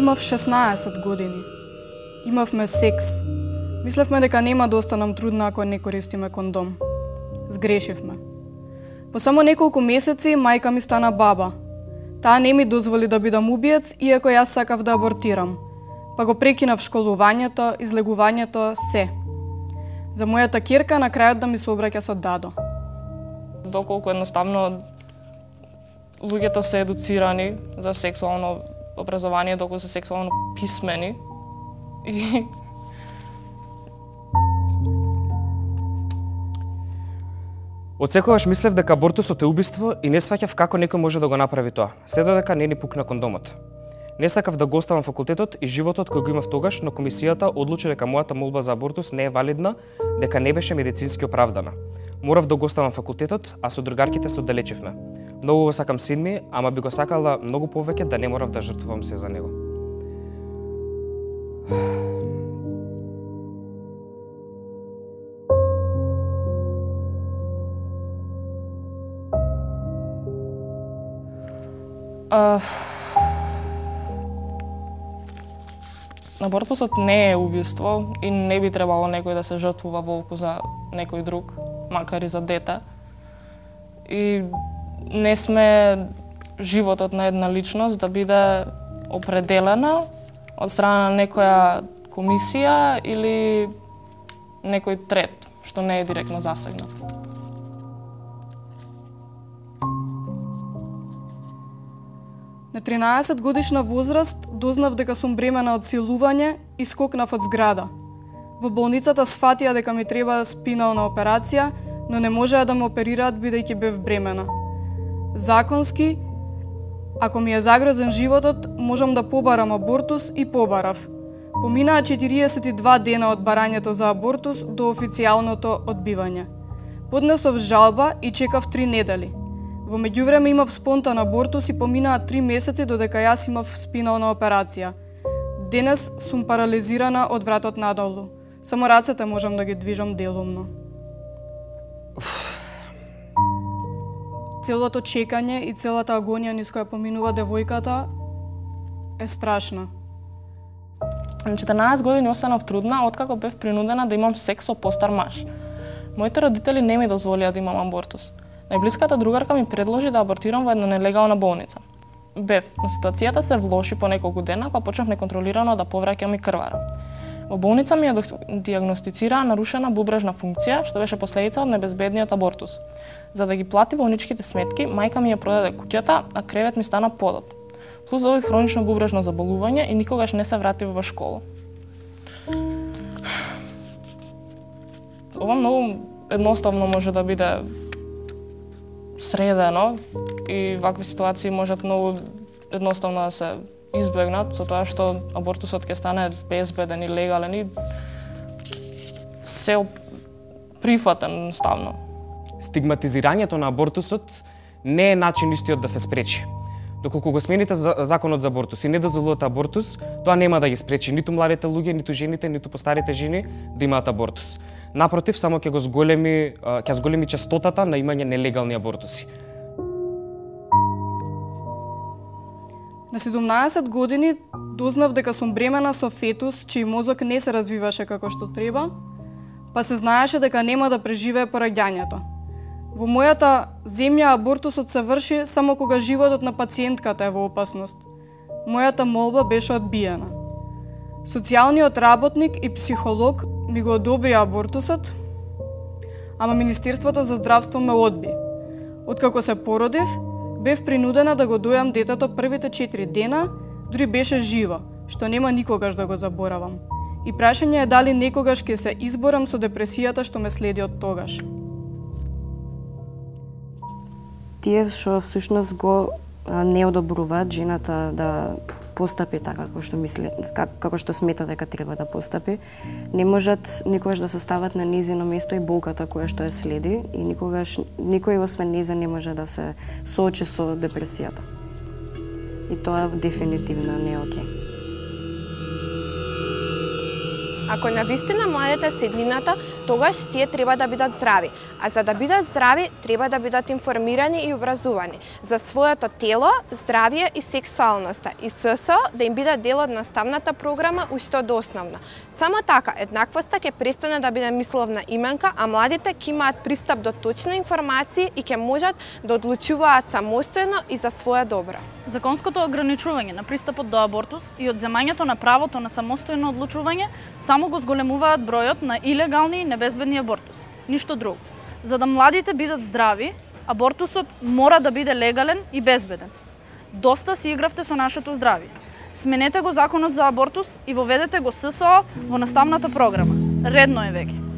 Имав 16 години. Имавме секс. Мислевме дека нема да останам трудна ако не користиме кондом. Сгрешивме. По само неколку месеци мајка ми стана баба. Таа не ми дозволи да бидам убиец, иако јас сакав да абортирам. Па го прекинав школувањето, излегувањето, се. За мојата ќерка на крајот да ми се обраќа со дадо. Доколку едноставно луѓето се едуцирани за сексуално образование, доколку се сексуално писмени и Отсекогаш мислев дека абортусот е убиство и не сваќав како некој може да го направи тоа, се додека не ни пукна кондомот. Не сакав да го оставам факултетот и животот кој го имав тогаш, но комисијата одлучи дека мојата молба за абортус не е валидна, дека не беше медицински оправдана. Морав да го оставам факултетот, а со другарките се оддалечивме. Многу го сакам син ми, ама би го сакала многу повеќе да не морав да жртвувам се за него. Абортусот не е убиство и не би требало некој да се жртвува волку за некој друг, макар и за дете. И не сме животот на една личност да биде определена од страна на некоја комисија или некој трет, што не е директно засегнат. На 13 годишна возраст дознав дека сум бремена од силување и скокнав од зграда. Во болницата сфатија дека ми треба спинална операција, но не можеа да ме оперираат бидејќи бев бремена. Законски, ако ми е загрозен животот, можам да побарам абортус и побарав. Поминаа 42 дена од барањето за абортус до официјалното одбивање. Поднесов жалба и чекав 3 недели. Во меѓувреме имав спонтан абортус и поминаа 3 месеци додека јас имав спинална операција. Денес сум парализирана од вратот надолу. Само рацете можам да ги движам делумно. Целото чекање и целата агонија низ која поминува девојката е страшна. На 14 години останав трудна откако бев принудена да имам секс со постар маж. Моите родители не ми дозволија да имам абортус. Најблиската другарка ми предложи да абортирам во една нелегална болница. Бев, но ситуацијата се влоши по неколку дена кога почнав неконтролирано да повраќам и крварам. Во болница ми ја диагностицираа нарушена бубрежна функција, што беше последица од небезбедниот абортус. За да ги плати болничките сметки, мајка ми ја продаде куќата, а кревет ми стана подот. Плюс доби хронично бубрежно заболување и никогаш не се врати во школа. Ова многу едноставно може да биде средено и вакви ситуации можат многу едноставно да се избегнат со тоа што абортусот ќе стане безбеден и легален и се прифатен ставно. Стигматизирањето на абортусот не е начин истиот да се спречи. Доколку го смените законот за абортус и не дозволувате абортус, тоа нема да ги спречи ниту младите луѓе, ниту жените, ниту постарите жени да имаат абортус. Напротив, само ќе зголеми честотата на имање нелегални абортуси. На 17 години дознав дека сум бремена со фетус, чиј мозок не се развиваше како што треба, па се знаеше дека нема да преживее пораѓањето. Во мојата земја абортусот се врши само кога животот на пациентката е во опасност. Мојата молба беше одбиена. Социјалниот работник и психолог ми го одобрија абортусот, ама Министерството за здравство ме одби. Откако се породив, бев принудена да го дојам детето првите 4 дена, дури беше живо, што нема никогаш да го заборавам. И прашање е дали некогаш ќе се изборам со депресијата што ме следи од тогаш. Тие што всушност го не одобруваат жената да постапи така како што смета дека треба да постапи, не можат никогаш да се стават на нејзино место и болката која што ја следи и никогаш никој освен нејза не може да се соочи со депресијата. И тоа дефинитивно не е окей. Ако навистина младите се еднината, тогаш тие треба да бидат здрави. А за да бидат здрави, треба да бидат информирани и образувани за своето тело, здравје и сексуалноста. И ССО да им биде дел од наставната програма уште од основна. Само така, еднаквоста ќе престане да биде мисловна именка, а младите ќе имаат пристап до точни информации и ќе можат да одлучуваат самостојно и за своја добро. Законското ограничување на пристапот до абортус и одземањето на правото на самостојно одлучување само го зголемуваат бројот на илегални и небезбедни абортуси. Ништо друго. За да младите бидат здрави, абортусот мора да биде легален и безбеден. Доста си игравте со нашето здравје. Сменете го законот за абортус и воведете го ССО во наставната програма. Редно е веќе.